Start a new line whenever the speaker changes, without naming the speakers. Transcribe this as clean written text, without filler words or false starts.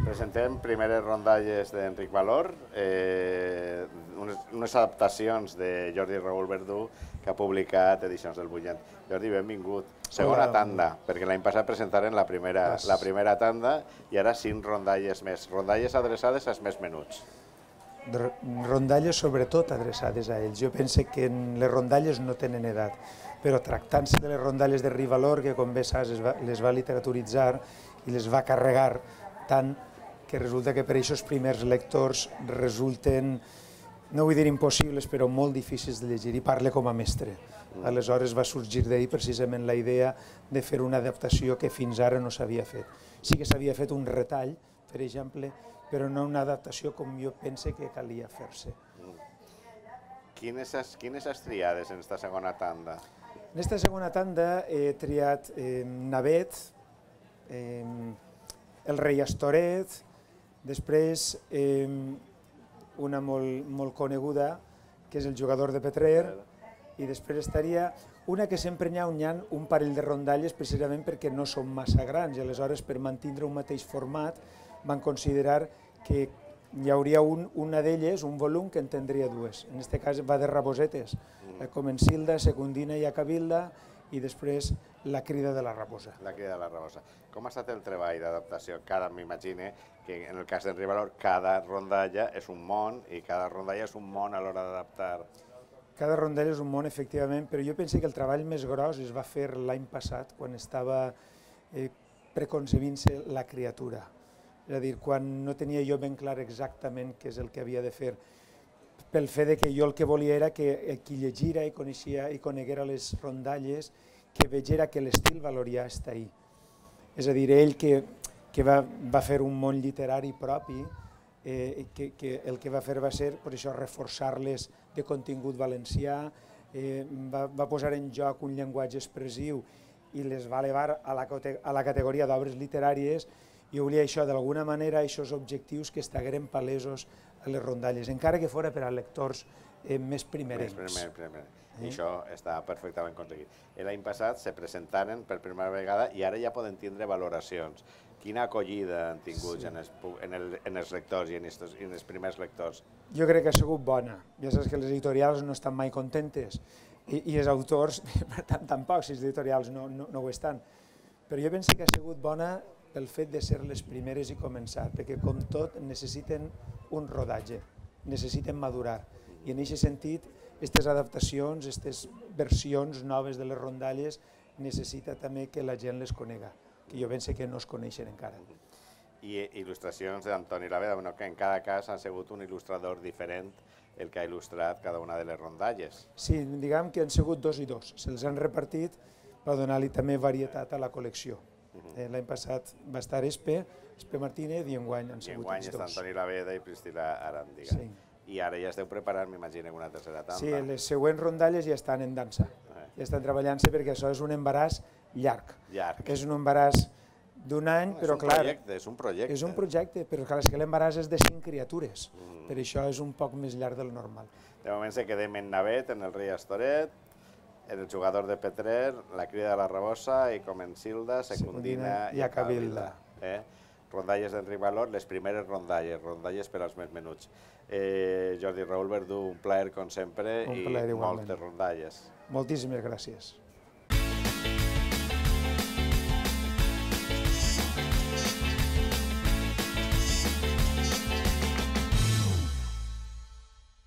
Presentem primeres rondalles d'Enric Valor, unes adaptacions de Jordi Raül Verdú que ha publicat Edicions del Bunyent. Jordi, benvingut. Segona tanda, perquè l'any passat presentaren la primera tanda i ara 5 rondalles més. Rondalles adreçades als més menuts.
Rondalles sobretot adreçades a ells. Jo penso que les rondalles no tenen edat, però tractant-se de les rondalles de Rivalor, que com bé saps les va literaturitzar i les va carregar tant que resulta que per a aquests primers lectors resulten, no vull dir impossibles, però molt difícils de llegir, i parla com a mestre. Aleshores va sorgir d'ahir precisament la idea de fer una adaptació que fins ara no s'havia fet. Sí que s'havia fet un retall, per exemple, però no una adaptació com jo pense que calia fer-se.
Quines has triades en aquesta segona tanda?
En aquesta segona tanda he triat Navet, El rei Astoret, després una molt coneguda, que és El jugador de Petrer, i després estaria una que sempre n'hi ha un parell de rondalles precisament perquè no són massa grans i aleshores per mantenir un mateix format van considerar que hi hauria una d'elles, un volum, que en tindria dues. En aquest cas va de rabosetes, Comencilda, Secundina i Acabilda, i després La crida de la rabosa.
La crida de la rabosa. Com ha estat el treball d'adaptació? M'imagino que en el cas d'Enric Valor cada rondalla és un món i cada rondalla és un món a l'hora d'adaptar.
Cada rondalla és un món, efectivament, però jo penso que el treball més gros es va fer l'any passat, quan estava preconcebint-se la criatura. És a dir, quan no tenia jo ben clar exactament què és el que havia de fer, pel fet que jo el que volia era que qui llegira i coneixia i coneguera les rondalles, que vegera que l'estil valorià està ahí. És a dir, ell que va fer un món literari propi, que el que va fer va ser, per això, reforçar-les de contingut valencià, va posar en joc un llenguatge expressiu i les va elevar a la categoria d'obres literàries, i volia això, d'alguna manera, aquests objectius que estagueren palesos a les rondalles, encara que fora per a lectors més primerencs.
I això està perfectament aconseguit. L'any passat se presentaren per primera vegada i ara ja poden tindre valoracions. Quina acollida han tingut en els lectors i en els primers lectors?
Jo crec que ha sigut bona. Ja saps que les editorials no estan mai contentes i els autors, per tant, tampoc, si les editorials no ho estan. Però jo penso que ha sigut bona pel fet de ser les primeres i començar, perquè com tot necessiten un rodatge, necessiten madurar. I en aquest sentit, aquestes adaptacions, aquestes versions noves de les rondalles, necessita també que la gent les conega, que jo penso que no es coneixen encara.
I il·lustracions d'Antoni Laveda, que en cada cas ha sigut un il·lustrador diferent el que ha il·lustrat cada una de les rondalles.
Sí, diguem que han sigut 2 i 2, se'ls han repartit per donar-li també varietat a la col·lecció. L'any passat va estar Espe Martínez i enguany han sigut els 2.
I enguany està Antoni Laveda i Priscila Arandiga. I ara ja esteu preparant, m'imagino, una tercera tanda.
Sí, les següents rondalles ja estan en dansa. Ja estan treballant-se perquè això és un embaràs llarg. És un embaràs d'un any, però clar...
És un projecte.
És un projecte, però clar, és que l'embaràs és de 5 criatures. Per això és un poc més llarg del normal.
De moment se quedem en Navet, en el rei Astoret, en el jugador de Petrer, La crida de la rabosa i Comencilda, Secundina i Acabilda. Rondalles d'Enric Valor, les primeres rondalles per als més menuts. Jordi Raül Verdú, un plaer com sempre i moltes rondalles.
Moltíssimes gràcies.